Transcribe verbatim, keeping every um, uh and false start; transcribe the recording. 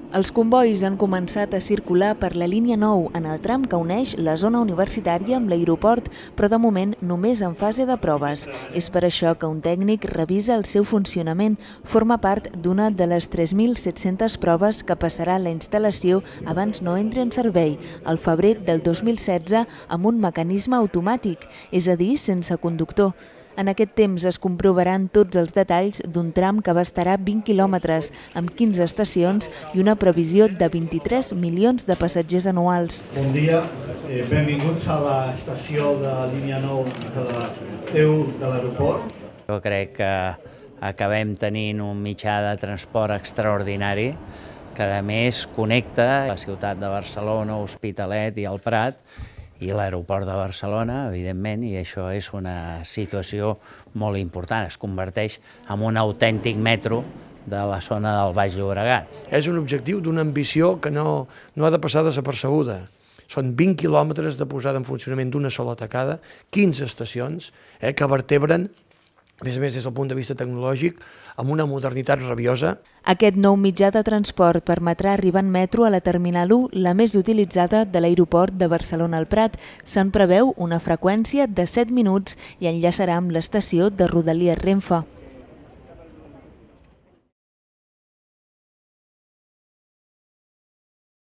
Els combois han començat a circular per la línia nou en el tram que uneix la zona universitària amb l'aeroport, però de moment només en fase de proves. És per això que un tècnic revisa el seu funcionament. Forma part d'una de les tres mil set-centes proves que passarà la instal·lació abans no entri en servei, al febrer del dos mil setze, amb un mecanisme automàtic, és a dir, sense conductor. En aquest temps es comprovaran tots els detalls d'un tram que abastarà vint quilòmetres, amb quinze estacions i una previsió de vint-i-tres milions de passatgers anuals. Bon dia, eh, benvinguts a l'estació de la línia nou de la T u de l'aeroport. Jo crec que acabem tenint un mitjà de transport extraordinari que a més connecta la ciutat de Barcelona, Hospitalet i el Prat, i l'aeroport de Barcelona, evidentment, i això és una situació molt important. Es converteix en un autèntic metro de la zona del Baix Llobregat. És un objectiu d'una ambició que no, no ha de passar desapercebuda. Són vint quilòmetres de posada en funcionament d'una sola tacada, quinze estacions eh, que vertebren, a més a més des del punt de vista tecnològic, amb una modernitat rabiosa. Aquest nou mitjà de transport permetrà arribar en metro a la Terminal u, la més utilitzada de l'aeroport de Barcelona al Prat. Se'n preveu una freqüència de set minuts i enllaçarà amb l'estació de Rodalies Renfe.